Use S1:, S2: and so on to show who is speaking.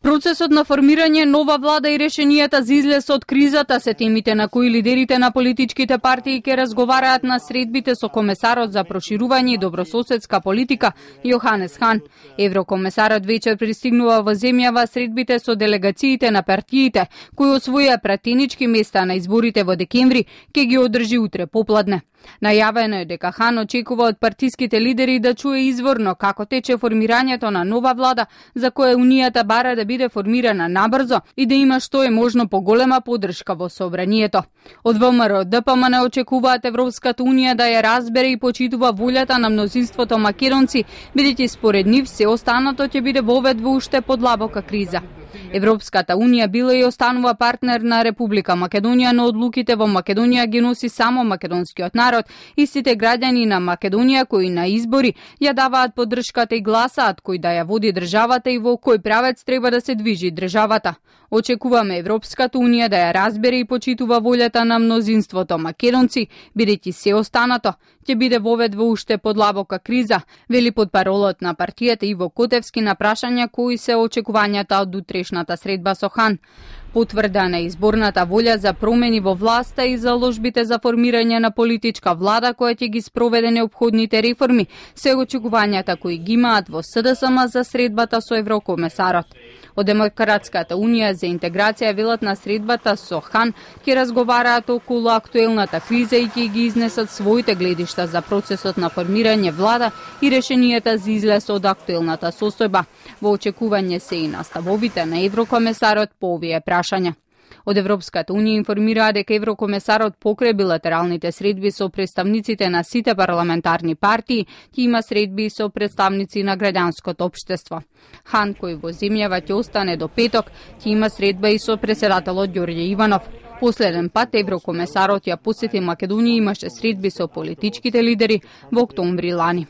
S1: Процесот на формирање нова влада и решенијата за излез од кризата се темите на кои лидерите на политичките партии ќе разговараат на средбите со комесарот за проширување и добрососедска политика Јоханес Хан. Еврокомесарот вечер пристигнува во земјава средбите со делегациите на партиите кои освоија пратенички места на изборите во декември ќе ги одржи утре попладне. Најавено е дека Хан очекува од партиските лидери да чуе изворно како тече формирањето на нова влада за која Унијата бара да биде формирана набрзо и да има што е можно поголема поддршка во собранието. Од ВМРО ДПМН очекуваат Европската Унија да ја разбере и почитува волјата на мнозинството македонци, бидејќи според нив се останато ќе биде вовед во уште подлабока криза. Европската Унија била и останува партнер на Република Македонија, но одлуките во Македонија ги носи само македонскиот народ. Истите граѓани на Македонија кои на избори ја даваат поддршката и гласаат кој да ја води државата и во кој правец треба да се движи државата. Очекуваме Европската Унија да ја разбере и почитува волјата на мнозинството македонци, бидејќи се останато ќе биде вовед во уште подлабока криза, вели потпаролот на партијата Иво Котевски на прашања кои се очекувањата од утрешната средба со Хан. Потврдена е изборната волја за промени во власта и заложбите за формирање на политичка влада која ќе ги спроведе неопходните реформи, се очекувањата кои ги имаат во СДСМ за средбата со еврокомесарот. Од Демократската Унија за интеграција велат на средбата со Хан ќе разговараат околу актуелната криза и ќе ги изнесат своите гледишта за процесот на формирање влада и решенијата за излез од актуелната состојба. Во очекување се и наставовите на еврокомесарот по овие прашања. Од Европската Унија информираа дека еврокомесарот покрај билатералните средби со представниците на сите парламентарни партии ќе има средби со представници на граѓанското општество. Хан, кој во земјава ќе остане до петок, ќе има средба и со претседателот Ѓорѓе Иванов. Последен пат еврокомесарот ја посети Македонија и имаше средби со политичките лидери во октомври лани.